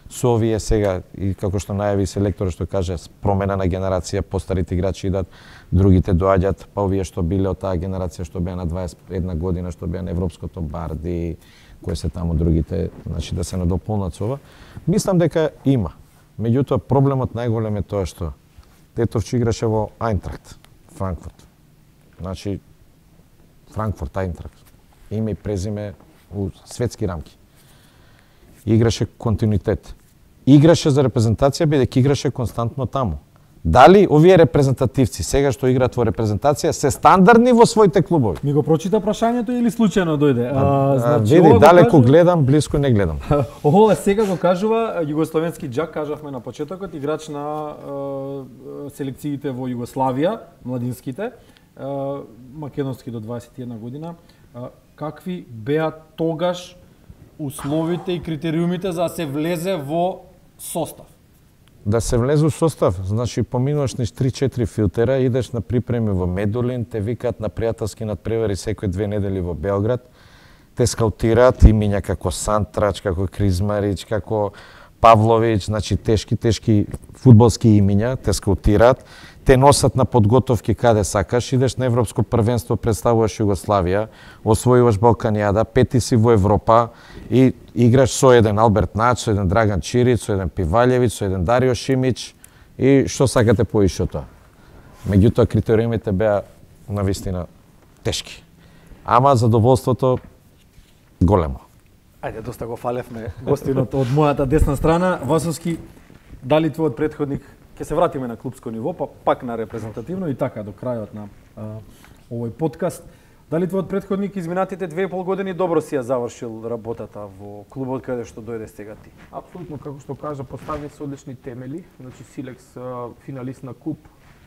Со овие сега, и како што најави селекторот што каже, промена на генерација, постарите играчи идат, другите доаѓаат, па овие што биле од таа генерација што беа на 21 година, што беа на Европското Барди, кои се таму другите, значи да се надополнат со ова. Мислам дека има. Меѓутоа проблемот најголем е тоа што Тетовче играше во Ајнтрахт, Франкфурт. Значи Франкфурт, Ајнтрахт. Име и презиме у светски рамки. Играше континуитет. Играше за репрезентација бидејќи играше константно таму. Дали овие репрезентативци сега што играат во репрезентација се стандардни во своите клубови? Ми го прочита прашањето или случајно дојде? Значи, види, далеко гледам, блиско не гледам. Ова сега го кажува југословенски џак, кажавме на почетокот, играч на селекциите во Југославија, младинските, македонски до 21 година. Какви беа тогаш условите и критериумите за да се влезе во состав? Да се влезе во состав, значи поминуваш низ 3-4 филтера, идеш на припреми во Медулин, те викаат на пријателски надпревари секој 2 недели во Белград, те скаутираат имиња како Сантрач, како Кризмарич, како Павлович, значи тешки фудбалски имиња, те скаутираат, те носат на подготовки каде сакаш, идеш на Европско првенство, представуваш Југославија, освојуваш Балканијада, пети си во Европа и играш со еден Алберт Нач, со еден Драган Чирич, со еден Пивалјевиќ, со еден Дарио Шимич и што сакате поише од тоа. Меѓутоа критериумите беа навистина тешки. Ама задоволството големо. Ајде, доста го фалевме гостинот од мојата десна страна. Васовски, дали твојот претходник, ќе се вратиме на клубско ниво, па пак на репрезентативно и така до крајот на овој подкаст. Дали твојот претходник изминатите 2,5 години добро си ја завршил работата во клубот каде што дојде сега ти? Апсолутно, како што кажа, постави се одлични темели. Значи Силекс финалист на куп,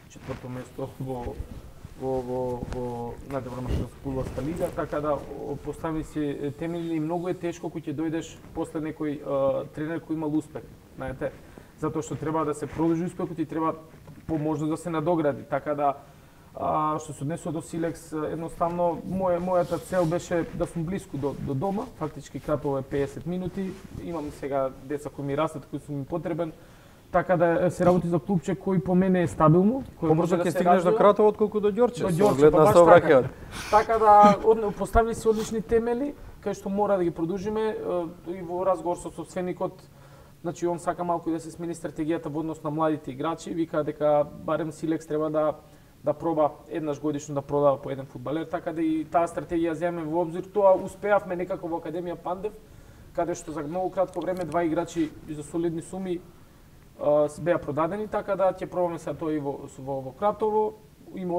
4-то место во најдобра македонска фудбалска лига, така да постави се темели и многу е тешко кога ќе дојдеш после некој тренер кој имал успех, знаете, затоа што треба да се продолжи успехот и треба поможност да се надогради, така да што се однесува до Силекс, едноставно мојата цел беше да сум блиску до дома, фактички Кратово е 50 минути, имам сега деца кои ми растат, кои сум им потребен, така да се работи за клубче кој по мене е стабилно, кој може да се стигнеш до Кратово отколку до Ѓорче. До Ѓорче, па баш така. Така да постави се одлични темели, кај што мора да ги продолжиме и во разговор со собственикот. Значи он сака малку да се смени стратегијата во однос на младите играчи, вика дека барем Силекс треба да проба еднаш годишно да продава по еден фудбалер, така да и таа стратегија земе во обзир. Тоа успеавме некако во Академија Пандев, каде што за многу кратко време два играчи за солидни суми беа продадени, така да ќе пробаме сега тоа и во Кратово. Има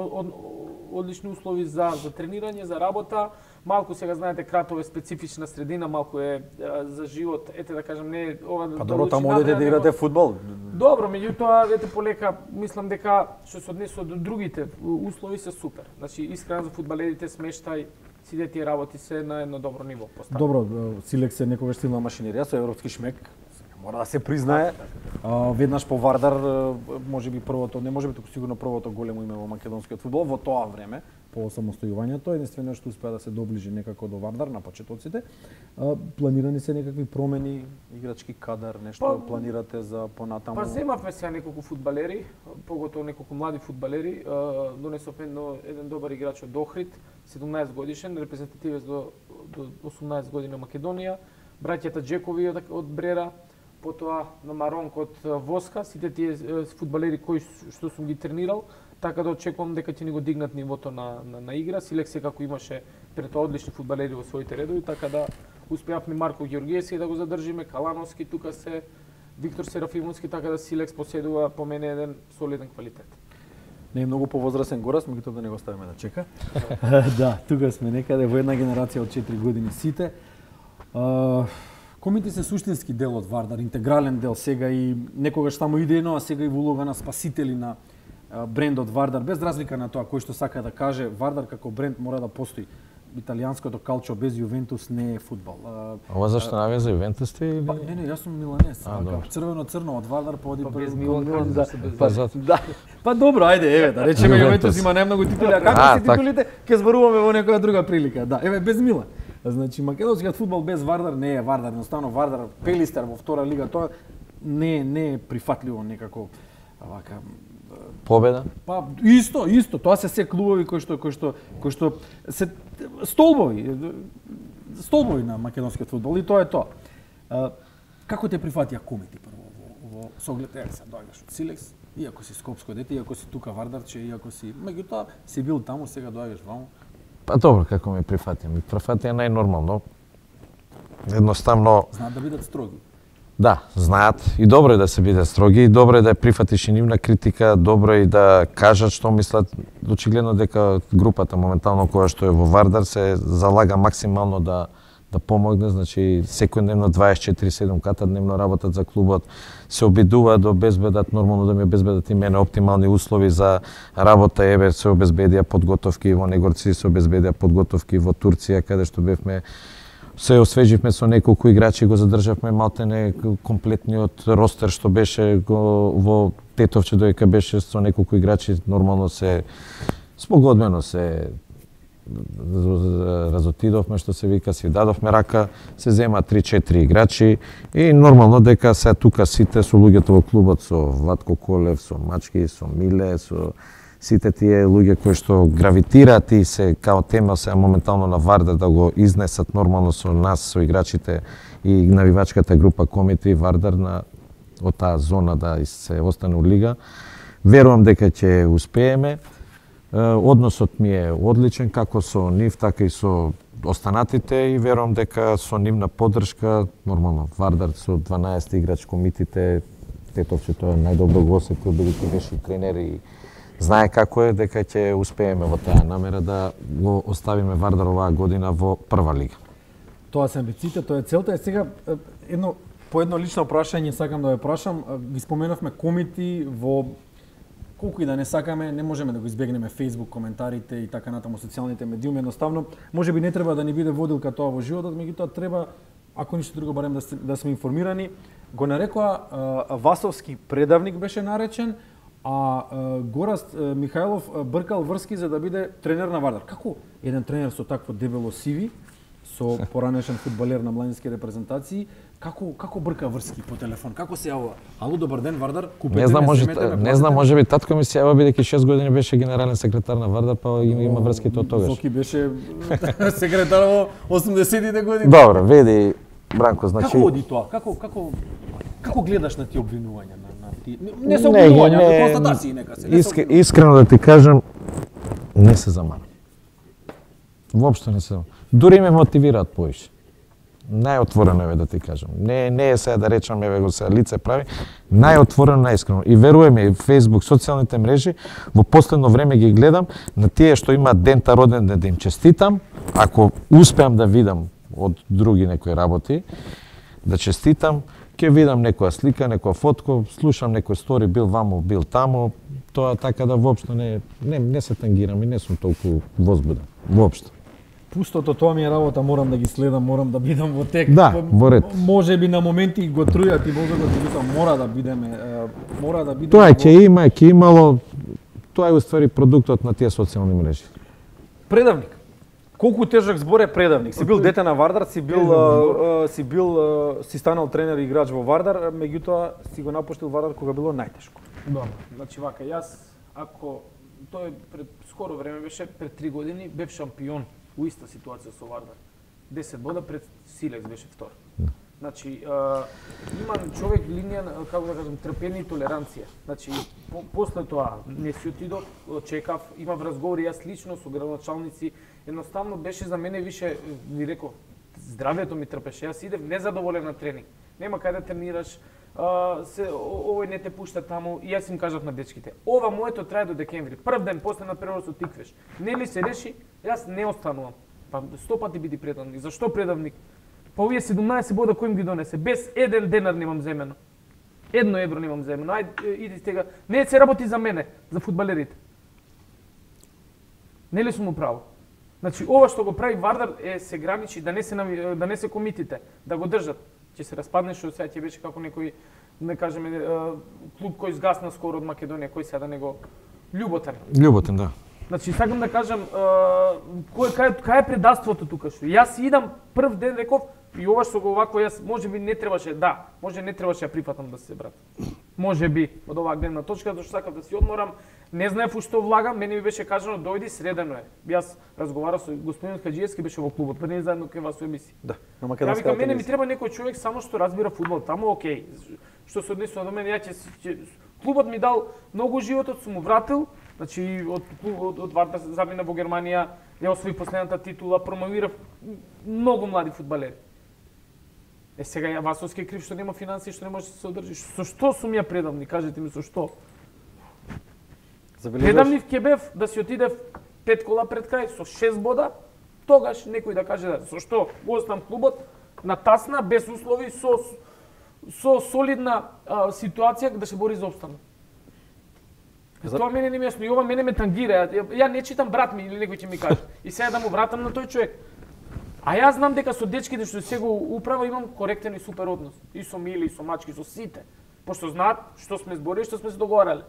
одлични услови за тренирање, за работа. Малку сега знаете Кратово е специфична средина, малку е за живот, ете да кажам, не е ова Па добро, таму одите да играте фудбал. Добро, меѓутоа ете полека мислам дека што се однесува до другите услови се супер. Значи искрено за фудбалерите смештај, сите тие работи се на едно добро ниво поставени. Добро, Силекс е некогаш силна машинерија со европски шмек. Мора да се признае. Веднаш по Вардар, можеби првото, не можеби туку сигурно првото големо име во македонскиот фудбал во тоа време, по самостојувањето, единствено што успеа да се доближи некако до Вардар на почетоците. Планирани се некакви промени, играчки кадар, нешто планирате за понатаму? Па земавме сега неколку фудбалери, поготово неколку млади фудбалери. Донесовме еден добар играч од Охрид, 17 годишен, репрезентативец до 18 години Македонија, браќата Джекови од Брера, потоа на Маронк од Воска, сите тие фудбалери кои што сум ги тренирал, така да очекувам дека ќе ни го дигнат нивото на игра. Силекс секако имаше пред тоа одлични фудбалери во своите редови, така да успеавме Марко Ѓоргиевски да го задржиме, Калановски тука се, Виктор Серафимовски, така да Силекс поседува по мене еден солиден квалитет. Не е многу повозрасен Горас, меѓутоа да не го ставиме да чека. Да, тука сме некаде во една генерација од 4 години сите. Комити се суштински дел од Вардар, интегрален дел сега и некогаш само идејно, а сега и во улога на спасители на брендот Вардар, без разлика на тоа кој што сака да каже, Вардар како бренд мора да постои. Италијанското калчо без Јувентус не е фудбал. Ова зашто навија за Јувентус ти или? Не, јас сум миланец. Црвено-црно од Вардар поди без Милан. Да. Па добро, ајде, еве, да речеме Јувентус има најмногу титули, а како се титулите, ќе зборуваме во некоја друга прилика. Да, еве без Милан. Значи македонскиот фудбал без Вардар не е Вардар, едноставно Вардар Пелистер во втора лига, тоа не е прифатливо некако вака победа? Па исто, тоа се клубови кои што се столбови на македонскиот фудбал и тоа е тоа. Како те прифатија комити прво во соглед се доаѓаш од Силекс, иако си скопско дете, иако си тука Вардарче, иако си, меѓутоа си бил таму, сега доаѓаш ваму. Па добро, како ме прифатија? Ми прифатија најнормално. Едноставно знаат да бидат строги. Да, знаат и добро е да се бидат строги, и добро е да ја прифатиш и нивна критика, добро е и да кажат што мислат. Очигледно дека групата моментално која што е во Вардар се залага максимално да помогне, значи секојдневно 24/7 ката дневно работат за клубот, се обидуваат да обезбедат, нормално да ми обезбедат и мене оптимални услови за работа, еве се обезбедија подготовки во Негорци, се обезбедија подготовки во Турција каде што бевме. Се освеживме со неколку играчи, го задржавме малтене комплетниот ростер што беше во Тетовче, доека беше со неколку играчи, нормално се спогодбено се разотидовме, што се вика, си дадовме рака, се зема 3-4 играчи и нормално дека се тука сите со луѓето во клубот, со Владко Колев, со Мачки, со Миле, со сите тие луѓе кои што гравитираат и се као тема се моментално на Вардар да го изнесат нормално со нас, со играчите и навивачката група комити Вардар од таа зона да се остане у лига. Верувам дека ќе успееме. Односот ми е одличен како со нив, така и со останатите и верувам дека со нивна поддршка, нормално Вардар со 12 играч комитите, Тетовче тоа најдобро го осетил, бидејќи беше и тренер и знае како е, дека ќе успееме во таа намера да го оставиме Вардар оваа година во прва лига. Тоа се амбициите, тоа е целта. Е сега по едно лично прашање сакам да ве прашам, ги споменавме комити во колку и да не сакаме, не можеме да го избегнеме Facebook коментарите и така натаму социјалните медиуми, едноставно можеби не треба да ни биде водилка тоа во животот, меѓутоа треба, ако ништо друго, барем да сме информирани. Го нарекоа Васовски предавник беше наречен, а Гораст Михајлов бркал врски за да биде тренер на Вардар. Како еден тренер со такво дебело CV, со поранешен фудбалер на младински репрезентации, како брка врски по телефон? Како се јавува? Ало, добар ден, Вардар, купете не знам, можеби татко ми се јавува бидејќи 6 години беше генерален секретар на Вардар, па има врските од тогаш. Зоки беше секретар во 80-тите години. Добро, веди Бранко, значи како оди тоа? Како гледаш на тие обвинувања на тие? Не се обвинувања, но констатации нека се. Искрено да ти кажам, не се замана. Воопшто не се замана. Дури ме мотивираат поише. Најотворено е да ти кажам. Не е сега да речам еве го се лице прави, најотворено, најискрено. И веруваме и Facebook, социјалните мрежи, во последно време ги гледам на тие што имаат дента роден ден да им честитам, ако успеам да видам од други некои работи, да честитам, ќе видам некоја слика, некоја фотко, слушам некој стори, бил ваму, бил таму, тоа така да воопшто не се тангирам и не сум толку возбуден, воопшто. Пустото, тоа ми е работа, морам да ги следам, морам да бидам во тек. Да, во ред. Може би на моменти го трујат и мозокот ти вика мора да бидеме. Тоа ќе имало, тоа е уствари продуктот на тие социјални мрежи. Предавник. Колку тежок збор е предавник? Си бил дете на Вардар, си станал тренер и играч во Вардар, меѓутоа си го напуштил Вардар кога било најтешко. Добро, значи вака, јас ако тој пред скоро време беше пред 3 години бев шампион у иста ситуација со Вардар. 10 бода пред Силекс беше втор. Значи, има човек линија, како да кажам, трпение и толеранција. Значи, после тоа не си отидов, чекав, имав разговори јас лично со градоначалници, едноставно беше за мене више, ви реков, здравјето ми трпеше. Јас идев незадоволен на тренинг. Нема кај да тренираш, овој не те пушта таму и јас им кажав на дечките. Ова моето трае до декември. Прв ден после на преносот тиквеш. Нели се реши, јас не останувам. Па 100 пати биди предавник. Зашто предавник? Па овие 17 бода кој им ги донесе? Без еден денар немам земено. 1 евро немам земено. Ајде, иди стега. Не се работи за мене, за фудбалерите. Нели сум управо? Значи, ова што го прави Вардар се граничи да не се комитите, да го држат. Ќе се распадне, што сега ќе беше како некој, не кажеме, клуб кој изгасна скоро од Македонија, кој сега да не го Љуботен. Љуботен, да. Значи, сакам да кажам, кај е предавството тука што? Јас идам прв ден реков и ова што го овако јас можеби не требаше, да, може не требаше ја прифатам да се брат. Можеби од оваа гледна точка, зашто сакав да си одморам, не знаев у што влагам, мене ми беше кажано дојди средено е. Јас разговарав со господин Хаџиевски, беше во клубот, пред заедно кај вас во емисија. Да, на македонска телевизија. Мене ми треба некој човек само што разбира фудбал, таму окей. Што се однесува до мене, клубот ми дал многу животот, сум му вратил. Значи, од Вардар замина во Германија, ја освои последната титула, промовирав многу млади фудбалери. Сега ја Васовски е крив што нема финансии, што не може да се одржи. Со што сум ја предавни? Кажете ми со што? Предавнив ќе бев да си отидев 5 кола пред крај со 6 бода, тогаш некој да каже да, со што го оставам клубот на тасна, без услови, со солидна ситуација да се бори за опстанок. Тоа мене не ми јасно и ова мене ме тангира. Ја не читам брат ми или некој ќе ми каже. И сега да му вратам на тој човек. А јас знам дека со дечките што се го управа имам коректен и супер однос. И со Мили, и со мачки, со сите. Пошто знаат што сме зборили, што сме се договорале.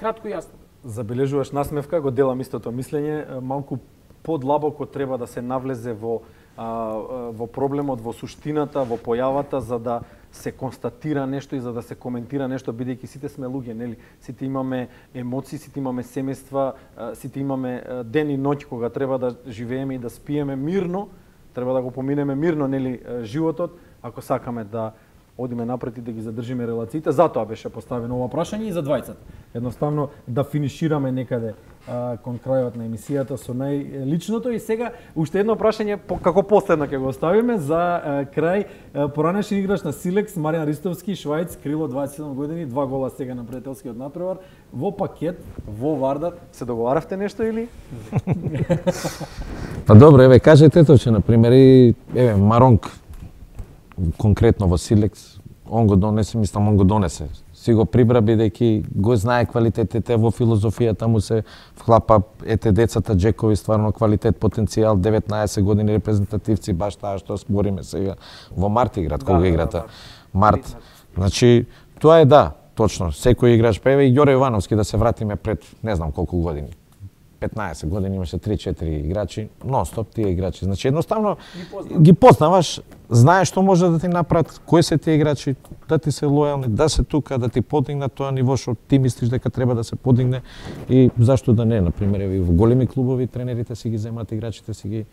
Кратко и јасно. Забележуваш насмевка, го делам истото мислење, малку подлабоко треба да се навлезе во проблемот, во суштината, во појавата, за да се констатира нешто и за да се коментира нешто, бидејќи сите сме луѓе, нели? Сите имаме емоции, сите имаме семејства, сите имаме ден и ноќ кога треба да живееме и да спиеме мирно, треба да го поминеме мирно, нели, животот, ако сакаме да одиме напред и да ги задржиме релациите. Затоа беше поставено ова прашање и за двајцата. Едноставно да финишираме некаде кон крајот на емисијата со најличното. И сега уште едно прашање како последно ќе го оставиме за крај. Поранешен играч на Силекс Маријан Ристовски, Швајц, крило 27 години, 2 гола сега на пријателскиот натпревар во пакет во Вардар. Се договаравте нешто или? Па добро, еве кажете тоа, че на пример и еве Маронк конкретно во Силекс, он го донесе. Си го прибра бидејќи го знае квалитетите, во филозофијата му се вклапа децата Джекови, стварно квалитет, потенцијал, 19 години репрезентативци, баш таа што спориме сега во март играт, кога играта март. Значи, тоа е да, точно, секој играч певе и Ѓоре Јовановски да се вратиме пред не знам колку години. 15 години имаше 3-4 играчи, нон-стоп тие играчи. Значи едноставно ги познаваш, знаеш што може да ти направат, кои се тие играчи, да ти се лојални, да се тука, да ти подигнат тоа ниво што ти мислиш дека треба да се подигне и зашто да не, на пример, и во големи клубови тренерите си ги земат играчите, си ги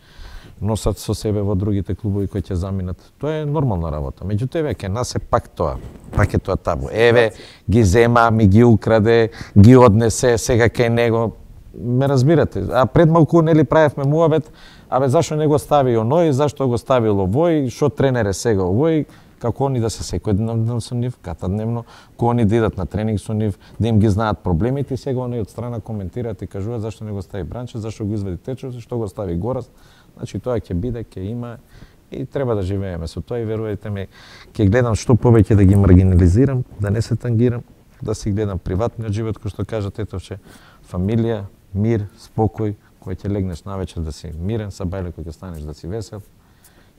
носат со себе во другите клубови кои ќе заминат. Тоа е нормална работа. Меѓутоа веќе нас е пак тоа. Пак е тоа табу. Еве ги зема, ми ги украде, ги однесе сега кај него. Ме разбирате. А пред малку нели правевме муабет, абе зашто не го стави оној, зашто го ставил овој, што тренер е сега овој, како они да се секојдневно со нив, катадневно, кога они да идат на тренинг со нив, да им ги знаат проблемите и сега они од страна коментираат и кажуваат зашто не го стави Бранче, зашто го извади Течо, што го стави Горас. Значи тоа ќе биде, ќе има и треба да живееме со тоа и верувајте ми, ќе гледам што повеќе да ги маргинализирам, да не се тангирам, да си гледам приватниот живот, кој што кажа Тетовче, фамилија, мир, спокој, кој ќе легнеш навечер да си мирен, са бајле кој ќе станеш да си весел.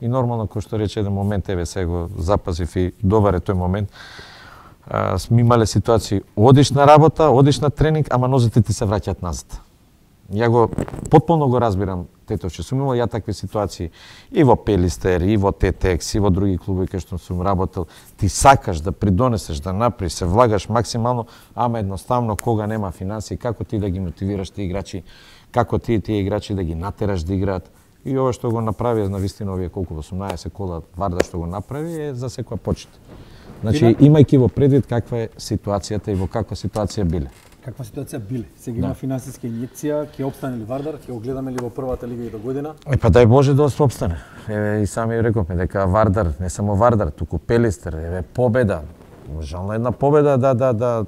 И нормално, кој што рече еден момент, еве сега го запазив и добар е тој момент, сме имале ситуации, одиш на работа, одиш на тренинг, ама нозите ти се враќаат назад. Ја го потполно го разбирам Тетовче, сум имал ја такви ситуации и во Пелистер, и во Тетекс, и во други клубови кај што сум работел. Ти сакаш да придонесеш, да направиш, се влагаш максимално, ама едноставно кога нема финансии, како ти да ги мотивираш тие играчи, како тие играчи да ги натераш да играат. И ова што го направи, навистина овие колку 18 кола Вардар што го направи е за секоја почит. Значи имајќи во предвид каква е ситуацијата и во каква ситуација биле. Каква ситуација биле? Сега има финансиска инјекција, ќе опстане ли Вардар, ќе го гледаме ли во првата лига и до година? Па дај Боже да опстане. Еве и сами рековме дека Вардар, не само Вардар, туку Пелистер, еве победа. Жално една победа да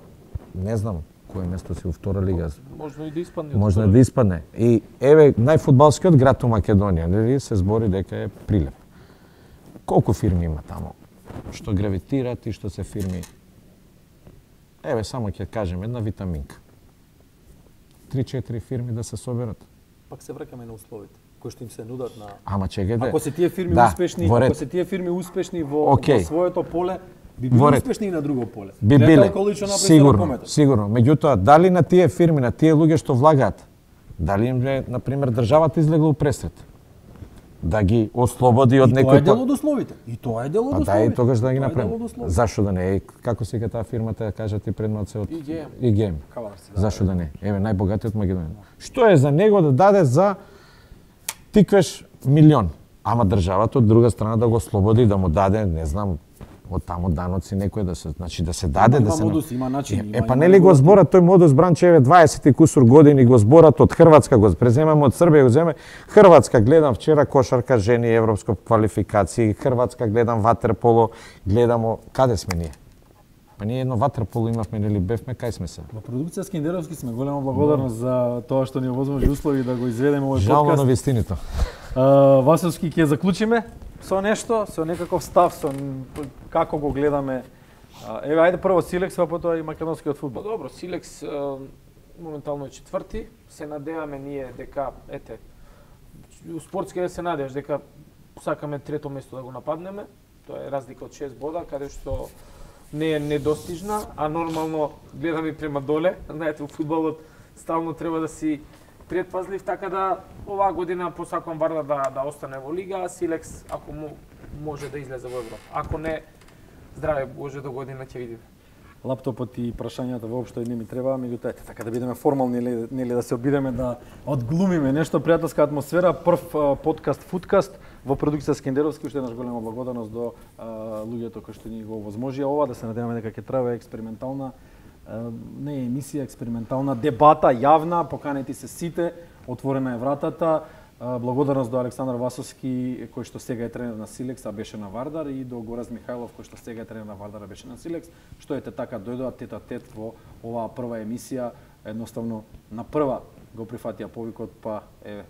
не знам кое место си во втора лига. Можно и да испадне. Можно да испадне. И еве најфудбалскиот град у Македонија, нели се збори дека е Прилеп. колку фирми има таму што гравитираат и што се фирми. Еве само ќе кажем една витаминка. 3-4 фирми да се соберат. Пак се враќаме на условите кои што им се нудат на. Ама чекајте. Ако се тие фирми успешни, ако се тие фирми успешни во своето поле, би биле успешни и на друго поле. Би биле. Сигурно. Меѓутоа, дали на тие фирми, на тие луѓе што влагаат, дали им е, на пример, државата излегла у пресред? Да ги ослободи од некој... И тоа е дел од условите. И тоа е дел од условите. А да и тогаш да ги направиме. Зашо да не е? Како се таа фирмата, кажа ти предмат од ИГМ. Зашо да не? Еве, најбогатиот Македонија. Што е за него да даде за тиквеш милион? Ама државата од друга страна да го ослободи, да му даде, не знам, од таму даноци некој да се, значи да се даде, да се модус, има начин. Па нели го збора тој модус Бранчеве 20 и кусур години го зборат од Хрватска, го преземаме од Србија, го земе Хрватска, гледам вчера кошарка жени европско квалификации, Хрватска гледам ватерполо, гледамо каде сме ние. Па ние едно ватерполо имавме, нели бевме, кај сме се? Во продукција Скендеровски сме голема благодарност за тоа што ни овозможи услови да го изведеме овој подкаст. Жално на вистината. Василски ќе заклучиме со нешто, со некаков став, со како го гледаме. Еве, ајде прво Силекс, а потоа и македонскиот фудбал. Добро, Силекс моментално е четврти. Се надеваме ние дека, ете, спортски се надеваш дека сакаме трето место да го нападнеме. Тоа е разлика од 6 бода, каде што не е недостижна, а нормално гледаме према доле. Знаете, во фудбалот стално треба да си предпазлив, така да оваа година посакувам Вардар да остане во лига, а Силекс ако може да излезе во Европа. Ако не, здраве Боже, до година ќе видиме. Лаптопот и прашањата воопшто не ми треба, меѓутоа така да бидеме формални, нели да се обидеме да одглумиме нешто пријателска атмосфера. Прв подкаст Фудкаст во продукција Скендеровски, уште еднаш голема благодарност до луѓето кои што ни го овозможија ова, да се надеваме дека ќе трае експериментална не е емисија, експериментална дебата, јавна, поканети се сите, отворена е вратата. Благодарност до Александар Васовски, кој што сега е тренер на Силекс, а беше на Вардар, и до Гораз Михајлов, кој што сега е тренер на Вардар, а беше на Силекс, што ете така дојдоа тет-а-тет во оваа прва емисија. Едноставно на прва го прифатија повикот, па еве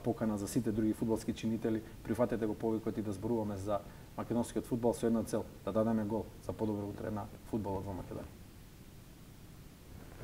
покана за сите други фудбалски чинители, прифатете го повикот и да зборуваме за македонскиот фудбал со една цел, да дадеме гол за подобро утре на фудбалот во Македонија.